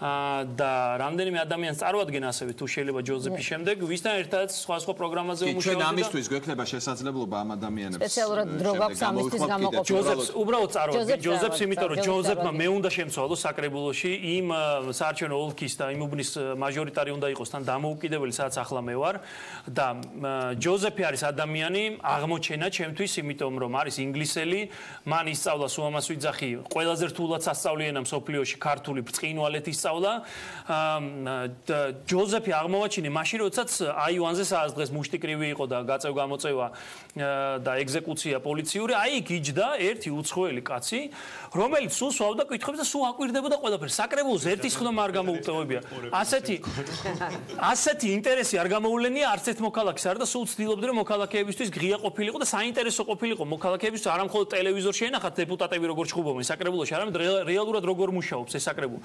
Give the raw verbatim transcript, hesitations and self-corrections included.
და რამდენიმე ადამიანს წარმოადგენს ასევე თუ შეიძლება ჯოზეფის შემდეგ ვისთან ერთად სხვა სხვა პროგრამაზე მუშაობდი. ჩვენ ამისთვის გვექნება შესაძლებლობა ამ ადამიანებს სპეციალურად დრო გვაქვს ამისთვის გამოყოფილი. ჯოზეფს უბრალოდ წარმოადგენს ჯოზეფს, იმიტომ რომ ჯოზეფმა მე უნდა შემცვალო საკრებულოში იმ საარჩევნო ოლქის და იმ უბნის მაჟორიტარი უნდა იყოს თან დამოუკიდებელი, სადაც ახლა მე ვარ და ჯოზეფი არის ადამიანი აღმოჩენა ჩემთვის, იმიტომ რომ არის ინგლისელი, მან ისწავლა სუამას ვიძახი, ყველაზე რთულად სასწავლი ენა მსოფლიოში ქართული ბრწყინვალეთი ისწავლა. ჯოზეფი აღმოვაჩინე მაშინ, როდესაც აივანზე სადაც დღეს მუშტიკრივი იყო და გაწევ გამოწევა და ეგზეკუცია პოლიციური, აი იქ იჯდა ერთი უცხოელი კაცი, რომელიც სულ სვავდა კითხვებს და სულ აკვირდებოდა ყველაფერს. საკრებულოს ერთის ხდომა არ გამოუტევებია. ასეთი ასეთი ინტერესი არ გამოულენია არც ერთ მოქალაქეს არ და სულ ცდილობდნენ რომ მოქალაქეებისთვის ღია ყოფილიყო და საინტერესო ყოფილიყო მოქალაქეებისთვის არა მხოლოდ ტელევიზორში ენახათ დეპუტატები როგორ ჩხუბობენ საკრებულოში, არამედ რეალურად როგორ მუშაობს ეს საკრებულო.